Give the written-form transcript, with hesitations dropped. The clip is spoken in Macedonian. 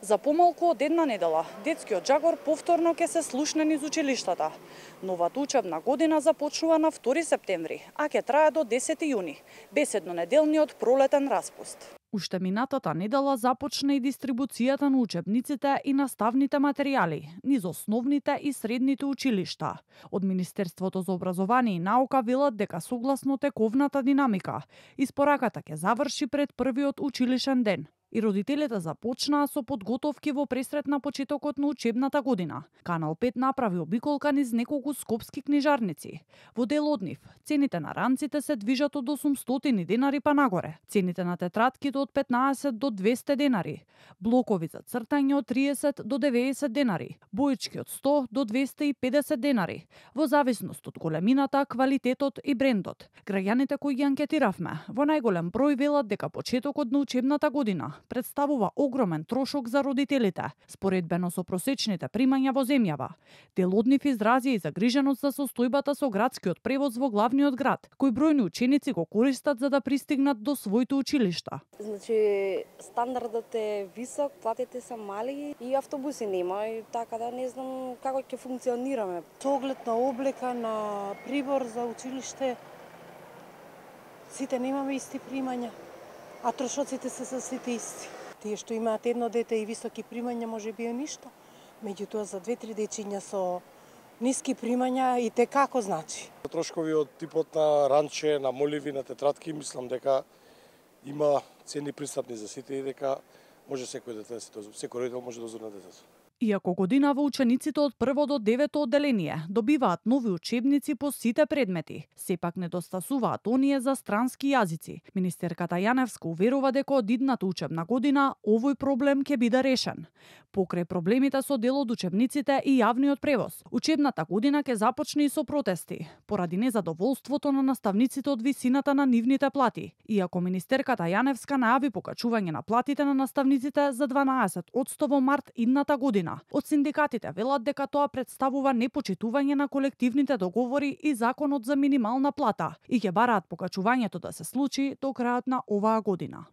За помалку од една недела, детскиот джагор повторно ќе се слушне низ училиштата. Новата учебна година започнува на 2 септември, а ќе трае до 10 јуни, без еднонеделниот пролетен распуст. Уште минатата недела започна и дистрибуцијата на учебниците и наставните материјали низ основните и средните училишта. Од Министерството за образование и наука велат дека согласно тековната динамика, испораката ќе заврши пред првиот училишен ден. И родителите започнаа со подготовки во пресрет на почетокот на учебната година. Канал 5 направи обиколка низ неколку скопски книжарници. Во дел од нив, цените на ранците се движат од 800 денари па нагоре. Цените на тетратките од 15 до 200 денари. Блокови за цртање од 30 до 90 денари. Боички од 100 до 250 денари. Во зависност од големината, квалитетот и брендот. Граѓаните кои ги анкетиравме, во најголем број велат дека почетокот на учебната година представува огромен трошок за родителите, споредбено со просечните примања во земјава. Дел од нив изрази и загриженост за состојбата со градскиот превоз во главниот град, кој бројни ученици го користат за да пристигнат до своите училишта. Значи, стандардот е висок, платите се мали и автобуси нема, и така да не знам како ќе функционираме. Со оглед на облека, на прибор за училиште, сите немаме исти примања, а трошоците се сите исти. Тие што имаат едно дете и високи примања може би е ништо, меѓутоа за 2-3 дечиња со ниски примања и те како значи. Трошкови од типот на ранче, на моливи, на тетратки, мислам дека има цени пристапни за сите и дека може секој дете, секој родител може да озорне детето. Иако годинава учениците од 1 до 9 одделение добиваат нови учебници по сите предмети, сепак недостасуваат оние за странски јазици. Министерката Јаневска уверува дека од идната учебна година овој проблем ќе биде решен. Покрај проблемите со дел од учебниците и јавниот превоз, учебната година ќе започне и со протести, поради незадоволството на наставниците од висината на нивните плати. Иако министерката Јаневска најави покачување на платите на наставниците за 12% во март идната година, од синдикатите велат дека тоа представува непочитување на колективните договори и законот за минимална плата и ќе бараат покачувањето да се случи до крајот на оваа година.